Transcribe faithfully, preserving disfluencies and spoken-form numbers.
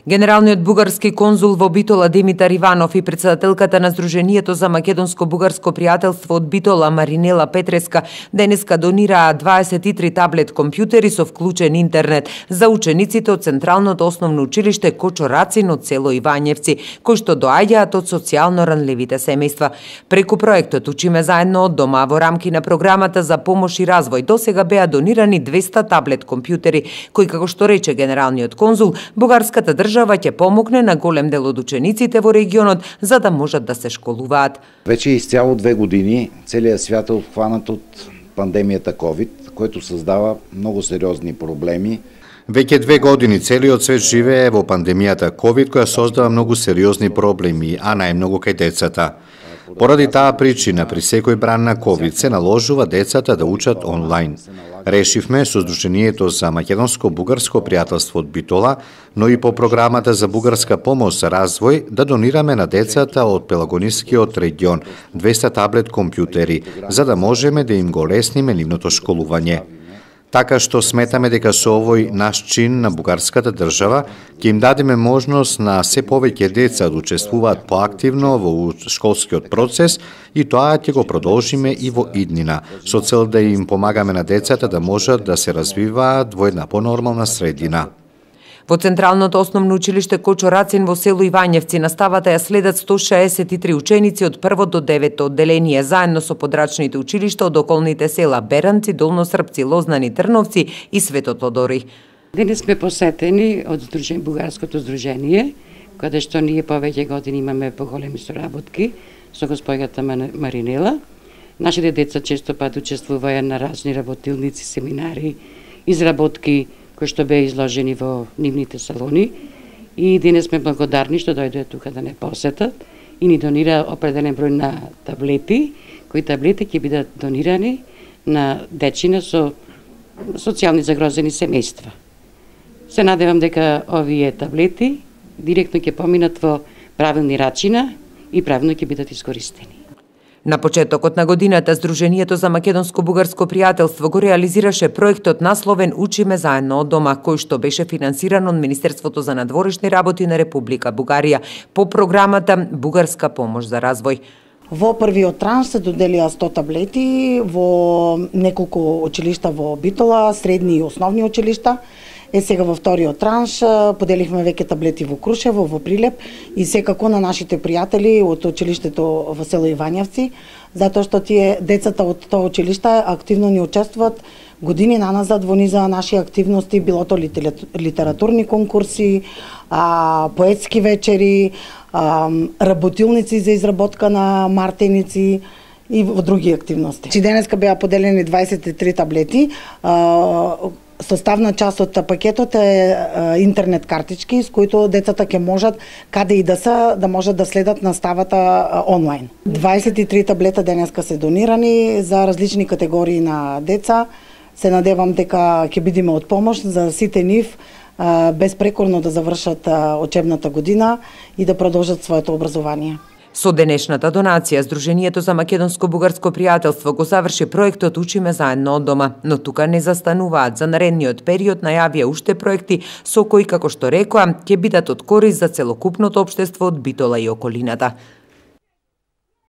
Генералниот бугарски конзул во Битола Димитар Иванов и председателката на Сдруженијето за македонско-бугарско пријателство од Битола Маринела Петреска денеска донираа дваесет и три таблет компјутери со вклучен интернет за учениците од Централното основно училиште Кочо Рацин од село Ивањевци, кои што доаѓаат од социјално ранливите семејства. Преку проектот Учиме заедно од дома во рамки на програмата за помош и развој досега беа донирани двеста таблет компјутери, кои, како што рече генералниот конзул, бугарската држава држава ќе помогне на голем дел од учениците во регионот за да можат да се школуваат. Веќе изцяло две години целиот свят е обхванат од пандемијата ковид, което создава многу сериозни проблеми. Веќе две години целиот свет живее во пандемијата ковид, која создава многу сериозни проблеми, а најмногу кај децата. Поради таа причина, при секој бран на ковид се наложува децата да учат онлайн. Решивме со Сдруженијето за македонско-бугарско пријателство од Битола, но и по програмата за бугарска помош за развој, да донираме на децата од Пелагонискиот регион двеста таблет компјутери, за да можеме да им го лесниме нивното школување. Така што сметаме дека со овој наш чин на бугарската држава ќе им дадеме можност на се повеќе деца да учествуваат поактивно во школскиот процес и тоа ќе го продолжиме и во иднина, со цел да им помагаме на децата да можат да се развиваат во една понормална средина. Во Централното основно училиште Кочо Рацин во село Ивањевци наставата ја следат сто шеесет и три ученици од прво до девето одделение, заедно со подрачните училишта од околните села Беранци, Долносрпци, Лознани, Трновци и Свето Тодори. Денес сме посетени од Здружен, Бугарското здружение, каде што ние повеќе години имаме поголеми соработки со госпојата Маринела. Нашите деца често пат учествуваја на разни работилници, семинари, изработки кои што беа изложени во нивните салони, и денес сме благодарни што дојдоа тука да не посетат и ни донира определен број на таблети, кои таблети ќе бидат донирани на дечина со социјални загрозени семејства. Се надевам дека овие таблети директно ќе поминат во правилни рачина и правилно ќе бидат искористени. На почетокот на годината Сдруженијето за македонско-бугарско пријателство го реализираше проектот насловен Учиме заедно од дома, кој што беше финансиран од Министерството за надворешни работи на Република Бугарија по програмата Бугарска помош за развој. Во првиот транш се доделија сто таблети во неколку училишта во Битола, средни и основни училишта. Е сега во вториот транш поделихме веќе таблети во Крушево, во Прилеп и секако на нашите пријатели од училиштето во село Ивањевци, затоа што тие децата од тоа училиште активно ни учествуваат години наназад во низа наши активности, било то литературни конкурси, а, поетски вечери, а, работилници за изработка на мартеници и во други активности. Чи денеска беа поделени дваесет и три таблети. А, Составна част од пакетот е интернет картички с кои децата ќе можат каде и да се да можат да следат наставата онлайн. дваесет и три таблета денеска се донирани за различни категории на деца. Се надевам дека ќе бидеме од помош за сите нив безпрекорно да завршат учебната година и да продолжат своето образование. Со денешната донација, Сдруженијето за македонско-бугарско пријателство го заврши проектот Учиме заедно од дома, но тука не застануваат. За наредниот период најавија уште проекти со кои, како што рекоа, ќе бидат од корист за целокупното општество од Битола и околината.